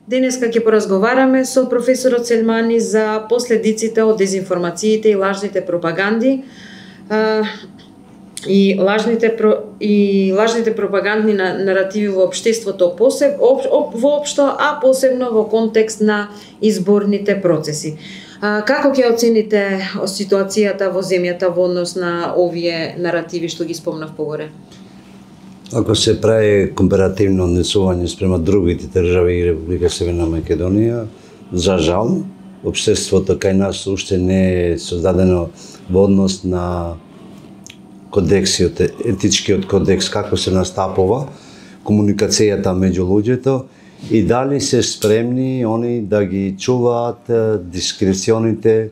Денеска ќе поразговараме со професорот Сельмани за последиците од дезинформациите и лажните пропаганди и лажните пропагандни наративи во општеството воопшто, а посебно во контекст на изборните процеси. Како ќе оцените ситуацијата во земјата во однос на овие наративи што ги спомнав погоре? Ако се прави компаративно однесување спрема другите држави и Република Северна Македонија, за жал, општеството кај нас уште не е создадено во однос на кодексиот, етичкиот кодекс, како се настапува комуникацијата меѓу луѓето и дали се спремни они да ги чуваат дискреционите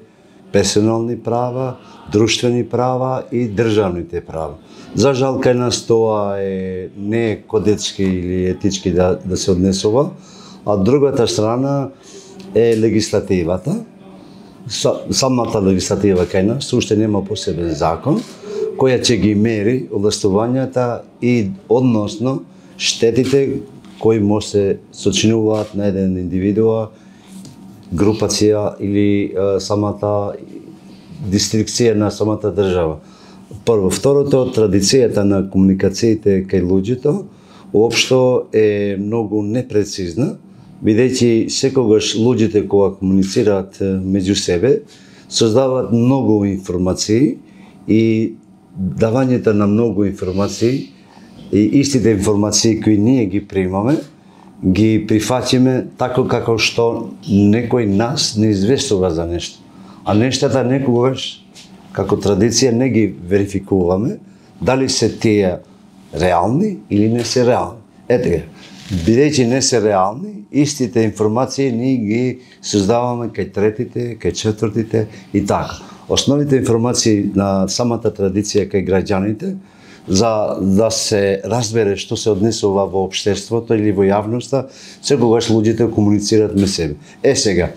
персонални права, друштвени права и државните права. За жал, кај нас тоа не е кодечки или етички да се однесува, а другата страна е легислативата. Самата легислатива кај нас уште нема посебен закон, која ќе ги мери овластувањата и односно штетите кои може се сочинуваат на еден индивидуа, групација или самата дистрикција на самата држава. Прво, второто, традицијата на комуникациите кај луѓето уопшто е многу непрецизна, бидејќи секогаш луѓето кога комуницираат меѓу себе, создаваат многу информации и давањето на многу информации и истите информации кои ние ги примаме, ги прифаќаме тако како што некој нас не известува за нешто. А нештата некогаш како традиција не ги верификуваме дали се тие реални или не се реални. Ете, бидејќи не се реални, истите информации ние ги создаваме кај третите, кај четвртите и така. Основните информации на самата традиција кај граѓаните за да се разбере што се однесува во општеството или во јавноста, секогаш луѓето комуницираат меѓу себе. Сега,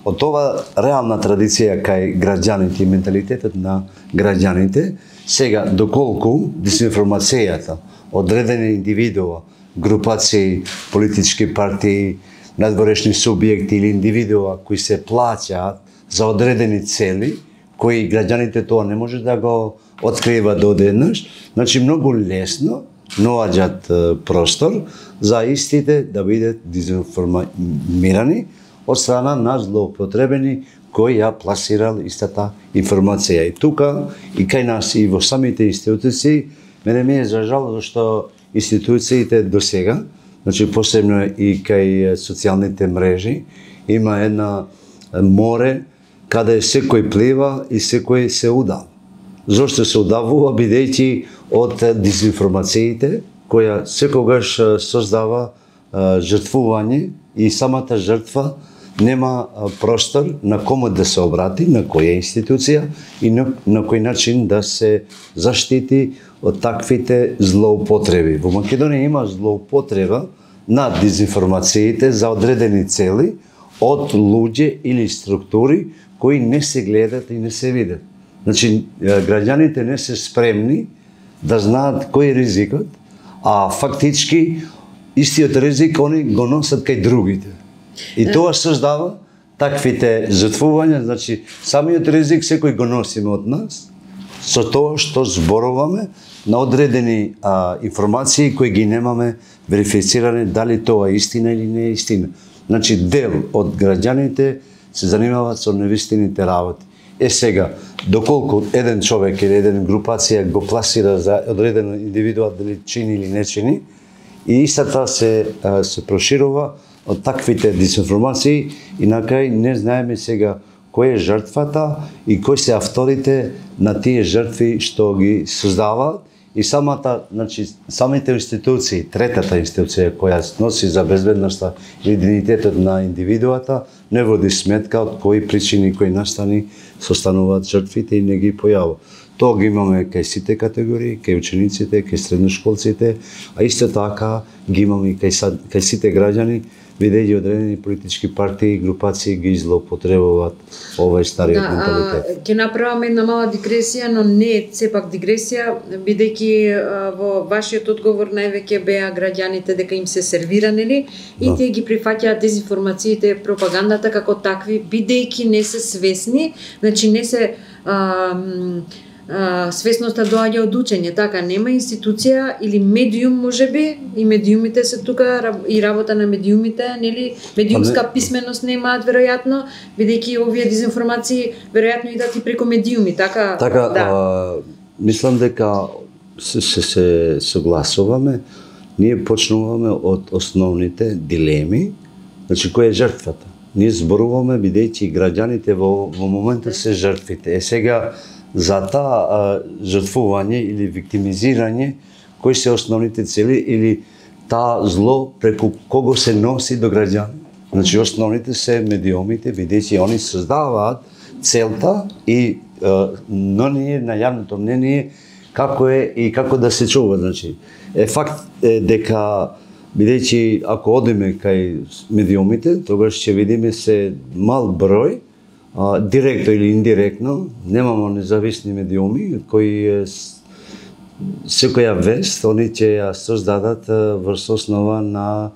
од ова реална традиција кај граѓаните и менталитетот на граѓаните, сега доколку дезинформацијата одредени индивидуа, групации, политички партии, надворешни субјекти или индивидуа кои се плаќаат за одредени цели, кои граѓаните тоа не може да го откриваат одеднаш, значи многу лесно наоѓаат простор за истите да бидат дезинформирани од страна на злоупотребени кој ја пласирал истата информација. И тука, и кај нас, и во самите институции, мене ми е за жал, зашто институциите до сега, значи посебно и кај социјалните мрежи, има една море каде секој плива и секој се удава. Зошто се удавува? Бидејќи од дезинформациите, која секогаш создава жртвување и самата жртва нема простор на кому да се обрати, на која институција и на кој начин да се заштити од таквите злоупотреби. Во Македонија има злоупотреба на дезинформациите за одредени цели од луѓе или структури кои не се гледат и не се видат. Значи, граѓаните не се спремни да знаат кој е ризикот, а фактички истиот ризик они го носат кај другите. И тоа создава таквите жртвувања, значи самиот ризик секој го носиме од нас, со тоа што зборуваме на одредени информации кои ги немаме верифицирани дали тоа е истина или не е истина. Значи дел од граѓаните се занимаваат со невистините работи. Сега, доколку еден човек или еден групација го пласира за одреден индивидуа дали чини или не чини, и истата се проширува од таквите дезинформации и на крај не знаеме сега кој е жртвата и кои се авторите на тие жртви што ги создаваат и самите институции, третата институција која носи за безбедноста и идентитетот на индивидуата, не води сметка од кои причини, кои настани состануваат жртвите и не ги појавува. Тоа ги имаме кај сите категории, кај учениците, кај средношколците, а исто така ги имаме и кај сите граѓани, бидејќи одредени политички партии и групации ги злоупотребуваат овој стариот менталитет. Ќе направам една мала дигресија, но не е сепак дигресија, бидејќи во вашиот одговор највеќе беа граѓаните дека им се сервира, нели? И тие ги прифаќаат дезинформациите, пропагандата како такви, бидејќи не се свесни, значи не се свесноста доаѓа од учење, така нема институција или медиум можеби, и медиумите се тука и работа на медиумите, нели, медиумска писменост немаат веројатно, бидејќи овие дезинформации веројатно идат и преку медиуми, така. Така, да. Мислам дека се согласуваме, ние почнуваме од основните дилеми, значи која е жртвата. Ние зборуваме бидејќи граѓаните во моментот се жртвите. Сега за таа жртвување или виктимизирање, кои се основните цели или таа зло преку кого се носи до граѓани. Значи основните се медиумите, бидејќи они создаваат целта и но ние на јавното мнение како е и како да се чува. Значи факт е дека бидејќи ако одиме кај медиумите, тогаш ќе видиме се мал број, директно или индиректно, немамо независни медиуми кои секоја вест они ќе ја создадат врз основа на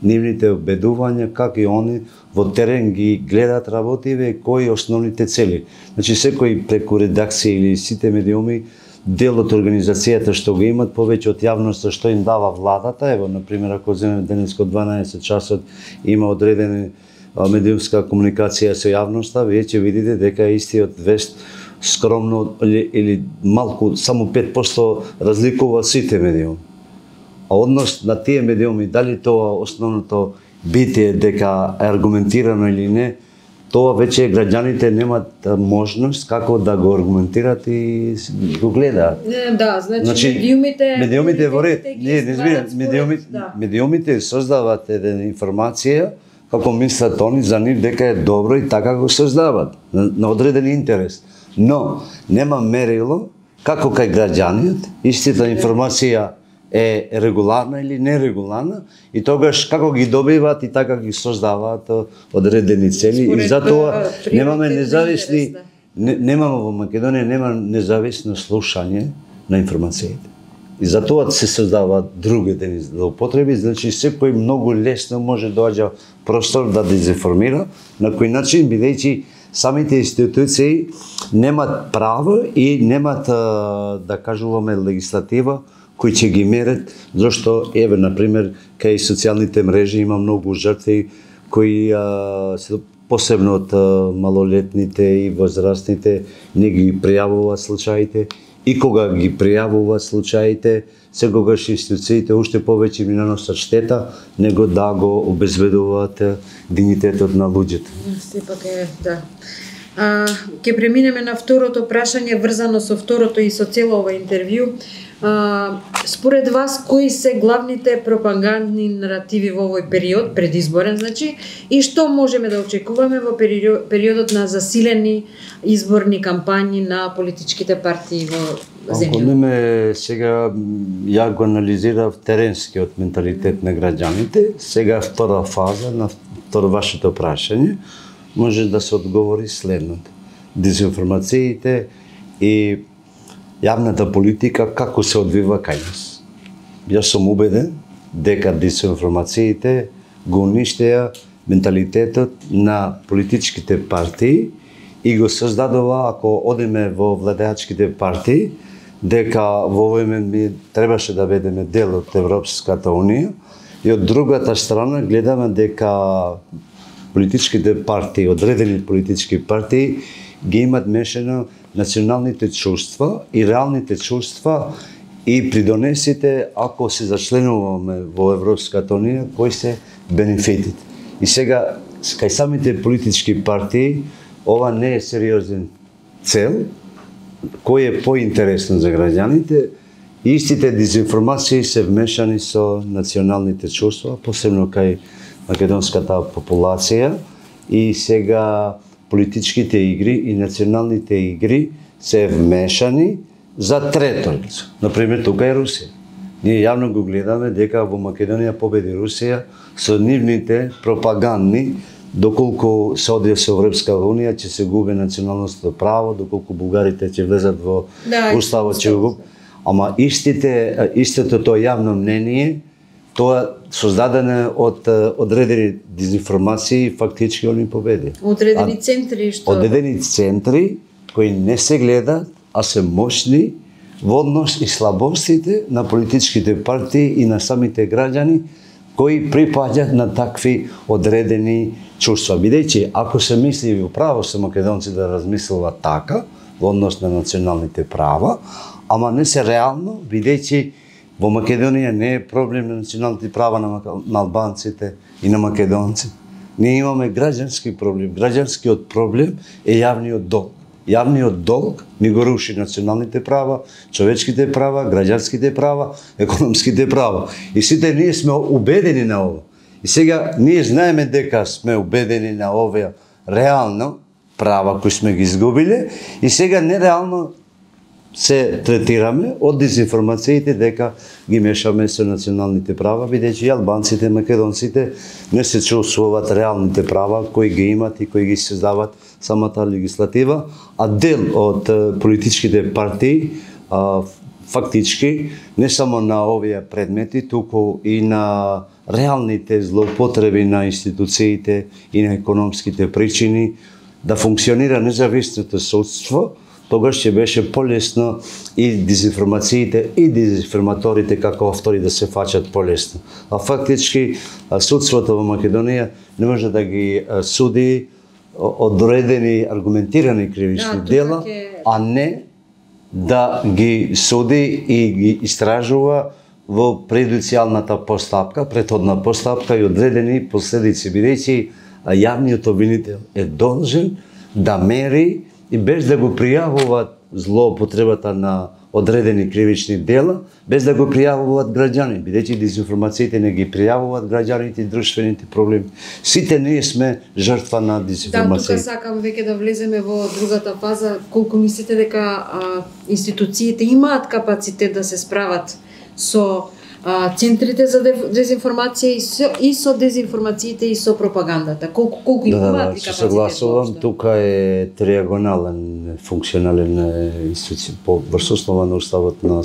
нивните обедувања, како и они во терен ги гледат работиве и кои основните цели. Значи секој преку редакција или сите медиуми дел од организацијата што го имат повеќе од јавноста што им дава владата. Ево, например, ако земеме денеска 12 часот има одредени медиумска комуникација со јавноста, вие ќе видите дека истиот вест скромно или малку, само 5% разликува сите медиуми. А однос на тие медиуми, дали тоа основното битие дека е аргументирано или не, тоа веќе граѓаните немат можност како да го аргументират и го гледаат. Да, значи медиумите во ред, медиумите создаваат една информација како мислат они за нив дека е добро и така го создават на одреден интерес. Но нема мерило како кај граѓаниот истата информација е регуларна или нерегуларна и тогаш како ги добиваат и така ги создаваат одредени цели и затоа немаме независни немаме во Македонија нема независно слушање на информациите. И затоа се создаваат другите злоупотреби, значи секој многу лесно може доаѓа простор да дезинформира, на кој начин бидејќи самите институции немат право и немат да кажуваме легислатива кои ќе ги мерат, зашто еве например кај социјалните мрежи има многу жртви кои се посебно од малолетните и возрастните не ги пријавуваат случаите и кога ги пријавуваат случаите, секогаш институциите уште повеќе ми наносат штета него да го обезбедуваат дигнитетот на луѓето. Сепак е, да. Ќе преминеме на второто прашање врзано со второто и со цело ова интервју. Според вас, кои се главните пропагандни наративи во овој период, предизборен значи, и што можеме да очекуваме во периодот на засилени изборни кампањи на политичките партии во земјата? Ако неме сега ја го анализирав теренскиот менталитет на граѓаните, сега втора фаза на второ вашето прашање, може да се одговори следното. Дезинформациите и јавната политика како се одвива кај нас. Јас сум убеден дека дезинформациите го уништеа менталитетот на политичките партии и го создадува, ако одиме во владеачките партии, дека во овој момент ми требаше да бидеме дел од Европската унија и од другата страна гледаме дека политичките партии, одредени политички партии ги имат мешано националните чувства и реалните чувства и придонесите ако се зачленуваме во Европската унија, кои се бенефитите. И сега, кај самите политички партии, ова не е сериозен цел, кој е поинтересно за граѓаните, истите дезинформации се вмешани со националните чувства, посебно кај македонската популација и сега политичките игри и националните игри се вмешани за трето лице. Например, тука е Русија. Ние јавно го гледаме дека во Македонија победи Русија со нивните пропагандни, доколку се оди со Европска унија ќе се губи националното право, доколку бугарите ќе влезат во уставот ќе го. Ама истото тоа јавно мнение, тоа создадено од одредени дезинформации, фактички они победи. Одредени центри што одредени центри кои не се гледат, а се мощни во однос и слабостите на политичките партии и на самите граѓани кои припаѓаат на такви одредени чувства. Бидејќи ако се мисли управо се македонци да размислуваат така во однос на националните права, ама не се реално, бидејќи во Македонија не е проблем на националните права на албанците и на македонци. Ние имаме граѓански проблем. Граѓанскиот проблем е јавниот долг. Јавниот долг ни го руши националните права, човечките права, граѓанските права, економските права. И сите ние сме убедени на ова. И сега ние знаеме дека сме убедени на овие реално права кои сме ги изгубиле и сега нереално се третираме од дезинформациите дека ги мешаме со националните права, бидејќи албанците, македонците не се чувствуваат реалните права кои ги имат и кои ги создават самата легислатива, а дел од политичките партии фактички не само на овие предмети, туку и на реалните злоупотреби на институциите и на економските причини да функционира независното судство, тогаш ќе беше полесно и дезинформациите и дезинформаторите како автори да се фаќат полесно. А фактички судството во Македонија не може да ги суди одредени аргументирани кривични дела, а не да ги суди и ги истражува во предуцијалната постапка, претходна постапка и одредени последици, бидејќи јавниот обвинител е должен да мери и без да го пријавуваат злоупотребата на одредени кривични дела, без да го пријавуваат граѓани, бидејќи дезинформациите не ги пријавуваат граѓаните и друштвените проблеми. Сите ние сме жртва на дезинформација. Да, тука сакам веќе да влеземе во другата фаза. Колку мислите дека институциите имаат капацитет да се справат со центрите за дезинформација и со дезинформациите и со пропагандата? Колку имаат капацитет? Се согласувам, тука е триагонален функционален институција врз основа на уставот на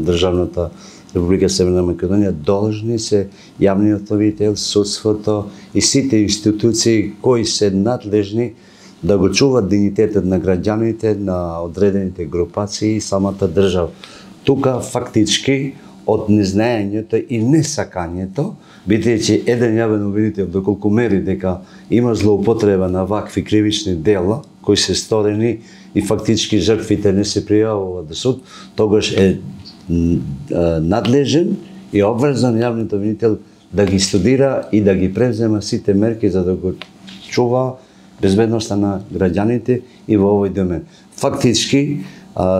државната Република Северна Македонија должни се јавниот обвинител, судството и сите институции кои се надлежни да го чуваат дигнитетот на граѓаните, на одредените групации и самата држава. Тука фактички од незнаењето и несакањето, бидејќи еден јавен обвинител доколку мери дека има злоупотреба на вакви кривични дела кои се сторени и фактички жртвите не се пријавуваат до суд, тогаш е надлежен и обврзан јавниот обвинител да ги студира и да ги презема сите мерки за да го чува безбедноста на граѓаните и во овој домен. Фактички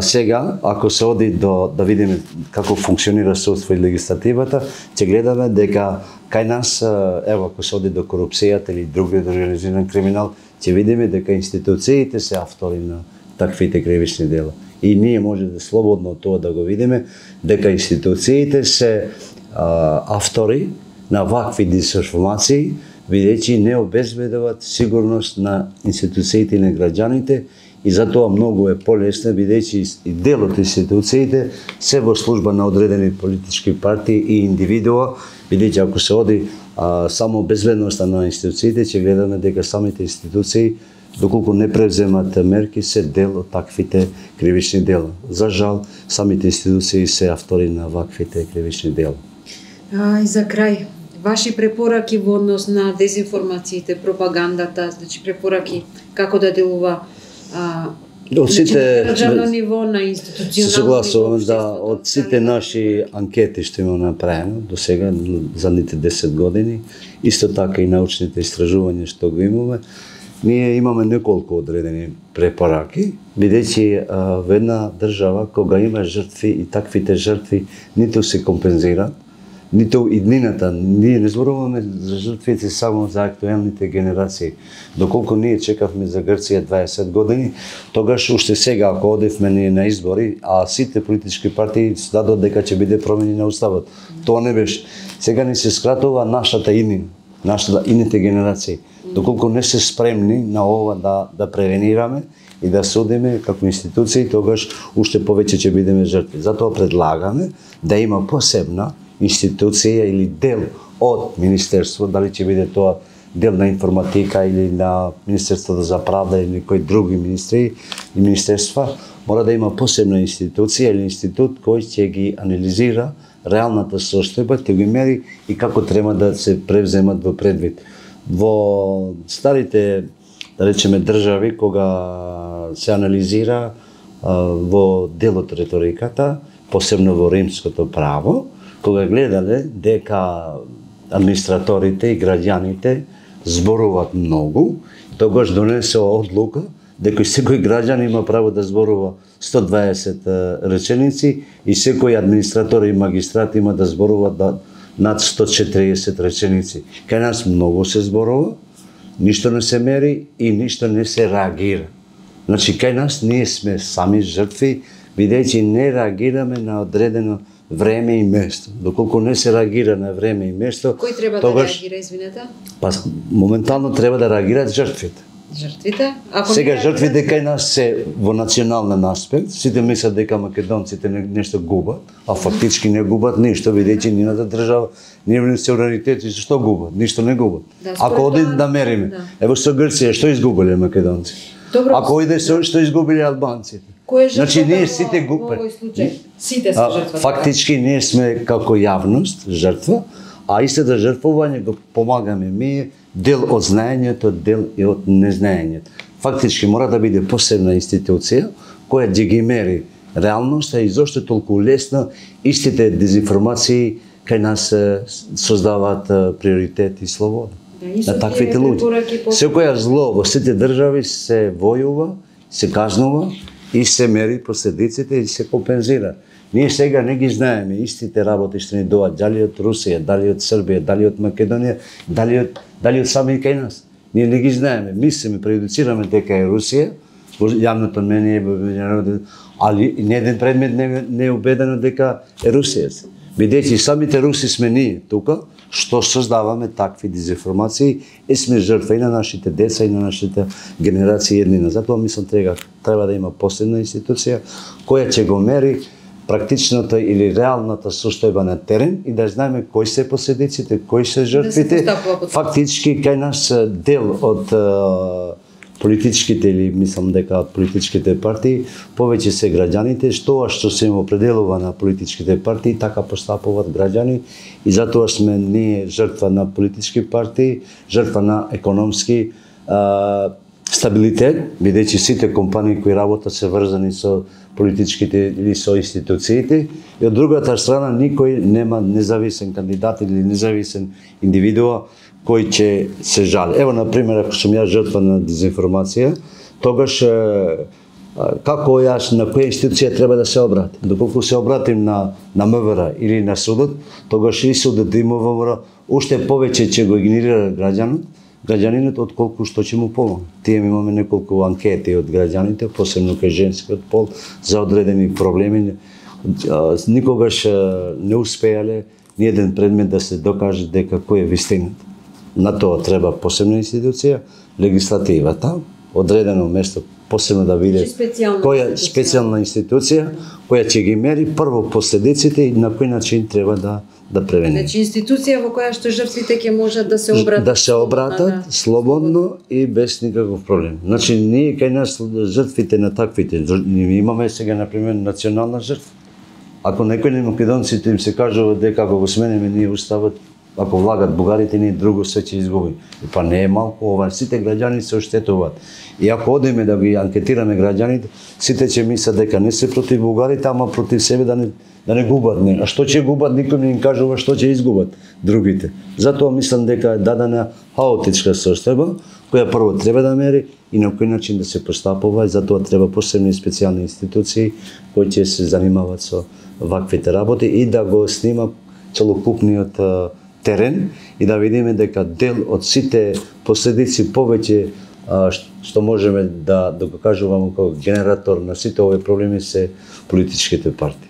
сега, ако се оди да видиме како функционира судство и легислативата, ќе гледаме дека кај нас, ево, ако се оди до корупцијата или другиот организиран криминал, ќе видиме дека институциите се автори на таквите кривични дела. И ние може да слободно тоа да го видиме, дека институциите се автори на вакви дезинформации, бидејќи не обезбедуваат сигурност на институциите и на граѓаните, и затоа многу е полесно, бидејќи и дел од институциите се во служба на одредени политички партии и индивидуа, бидејќи ако се оди само безбедноста на институциите, ќе гледаме дека самите институции, доколку не превземат мерки, се дел од таквите кривични дела. За жал, самите институции се автори на ваквите кривични дела. И за крај, ваши препораки во однос на дезинформациите, пропагандата, значи препораки како да делува од сите на државно ниво, на институционално согласувам ниво, да од сите наши анкети што имаме направено до сега задните 10 години, исто така и научните истражувања што го имаме, ние имаме неколку одредени препораки, бидејќи во една држава кога има жртви и таквите жртви ниту се компензираат, ниту иднината. Ние не зборуваме за жртвите само за актуелните генерации. Доколку ние чекавме за Грција 20 години, тогаш уште сега, ако одевме ние на избори, а сите политички партии дадот дека ќе биде промени на уставот. Тоа не беше. Сега ни се скратува нашата иднина, идните генерации. Доколку не се спремни на ова да превенираме и да судиме како институции, тогаш уште повеќе ќе бидеме жртви. Затоа предлагаме да има посебна институција или дел од Министерство, дали ќе биде тоа дел на информатика или на Министерството за правда или кои други министри и министерства, мора да има посебна институција или институт кој ќе ги анализира реалната состојба, ќе ги мери и како треба да се превземат во предвид. Во старите, да речеме, држави, кога се анализира во делот реториката, посебно во римското право, кога гледале дека администраторите и граѓаните зборуваат многу, тогаш донесе одлука дека секој граѓан има право да зборува 120 реченици и секој администратор и магистрат има да зборува над 140 реченици. Кај нас многу се зборува, ништо не се мери и ништо не се реагира. Значи, кај нас ние сме сами жртви, бидејќи не реагираме на одредено време и место. Доколку не се реагира на време и место, кој треба да реагира, извинете? Па моментално треба да реагираат жртвите. Жртвите? Сега жртвите кај нас се во национален аспект, сите мислат дека македонците нешто губат, а фактички не губат ништо, бидејќи нината држава, ние се суверенитет, што губат? Ништо не губат. Ако одим да мериме, ево со Грција, што изгубиле македонци? Ако иде што изгубиле албанците? Значи ние сите губиме. Сите се жртва. Фактички ние сме како јавност жртва, а истата жртвување го помагаме ние, дел од знаењето, дел и од незнаењето. Фактички мора да биде посебна институција која ќе ги мери реалноста и зошто толку лесно истите дезинформации кај нас создаваат приоритет и слобода на таквите луѓе. Секоја зло во сите држави се војува, се кажнува и се мери последиците и се компензира. Ние сега не ги знаеме истите работи што ни доаѓаат, дали од Русија, дали од Србија, дали од Македонија, дали од сами кај нас. Ние не ги знаеме, мислиме, преюдицираме дека е Русија, во јавното мнение, али ни еден предмет не е убедено дека е Русија. Бидејќи самите руси сме ние тука, што создаваме такви дезинформации и сме жртва и на нашите деца и на нашите генерации еднина. Затоа мислам треба да има посебна институција која ќе го мери практичната или реалната состојба на терен и да знаеме кои се последиците, кои се жртвите. Фактички кај нас дел од политичките или мислам дека политичките партии повеќе се граѓаните, што се им определува на политичките партии, така постапуваат граѓани и затоа сме ние жртва на политички партии, жртва на економски стабилитет, бидејќи сите компании кои работат се врзани со политичките или со институциите, и од другата страна никој нема независен кандидат или независен индивидуа кој ќе се жали. Ево, например, ако сум јас жртва на дезинформација, тогаш како јас на која институција треба да се обратим? Доколку се обратим на МВР или на судот, тогаш и судот и МВР уште повеќе ќе го игнорира граѓанинот отколку што ќе му помогне. Тие имаме неколку анкети од граѓаните, посебно кај женскиот пол, за одредени проблеми. Никогаш не успеале ни еден предмет да се докаже дека кој е вистината. На тоа треба посебна институција, легислативата, одредено место посебно да биде која специјална институција која ќе ги мери прво последиците и на кој начин треба да превени. Значи институција во која што жртвите ќе можат да се обратат. Да се обратат слободно и без никаков проблем. Значи ние кај нас жртвите на таквите, имаме сега например национална жртва. Ако некој на македонците им се кажува дека ако го смениме ние уставот, ако влагат бугарите, ние друго се ќе изгуби. Па не е малку ова, сите граѓани се оштетуваат. И ако одиме да ги анкетираме граѓаните, сите ќе мислат дека не се против бугарите, ама против себе да не губат. А што ќе губат, никој не им кажува што ќе изгубат другите. Затоа мислам дека е дадена хаотичка состојба, која прво треба да мери и на кој начин да се постапува, и затоа треба посебни специјални институции кои ќе се занимаваат со ваквите работи и да го снима целокупниот терен и да видиме дека дел од сите последици повеќе што можеме да го кажуваме како генератор на сите овие проблеми се политичките партии.